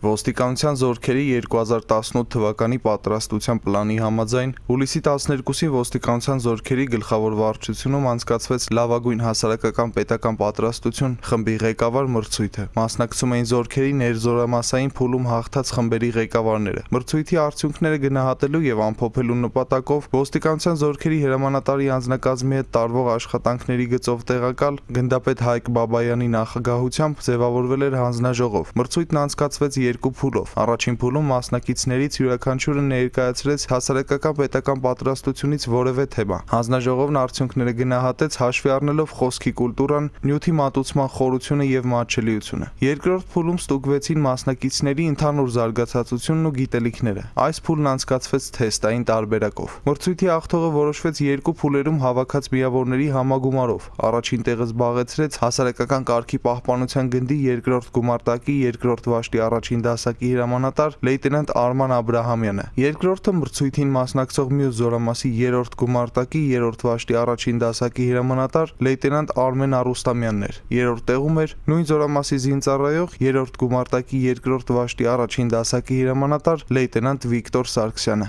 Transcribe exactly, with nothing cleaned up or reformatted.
Ոստիկանության զորքերի երկու հազար տասնութ թվականի պատրաստության պլանի համաձայն հուլիսի տասներկուսին ոստիկանության զորքերի գլխավոր վարչությունում անցկացվեց լավագույն հասարակական պետական պատրաստություն խմբի ղեկավար մրցույթը։ Մասնակցում էին զորքերի ներզորամասային փուլում հաղթած խմբերի ղեկավարները։ Մրցույթի արդյունքները գնահատելու եւ ամփոփելու նպատակով ոստիկանության զորքերի հրամանատարի անձնակազմի հետ տարվող աշխատանքների գծով տեղակալ գնդապետ Հայկ Բաբայանի նախագահությամբ ձևավորվել էր հանձնաժողով։ Մրցույթն անցկացվեց երկու փուլով։ Առաջին փուլում մասնակիցներից յուրաքանչյուրը ներկայացրեց հասարակական պետական պատրաստությունից որևէ թեմա։ Հանձնաժողովն արդյունքները գնահատեց հաշվի առնելով խոսքի կուլտուրան, նյութի մատուցման խորությունը եւ մատչելիությունը։ Երկրորդ փուլում ստուգվեցին մասնակիցների ընդհանուր զարգացածությունն ու գիտելիքները։ Այս փուլն անցկացվեց թեստային տարբերակով։ Մրցույթի հաղթողը որոշվեց երկու փուլերում հավաքած միավորների համագումարով։ Առաջին տեղը զբաղեցրեց հասարակական կարգի պահպանության գնդի երկրորդ գումարտակի երկրորդ վաշտի առաջին դասակի հրամանատար լեյտենանտ Արման Աբրահամյանը։ Երկրորդը մրցույթին մասնակցող մյուս զորամասի երրորդ գումարտակի երրորդ վաշտի առաջին դասակի հրամանատար լեյտենանտ Արմեն Արուստամյանն էր։ Երրորդ տեղում էր նույն զորամասի զինծառայող երրորդ գումարտակի երկրորդ վաշտի առաջին դասակի հրամանատար լեյտենանտ Վիկտոր Սարգսյանը։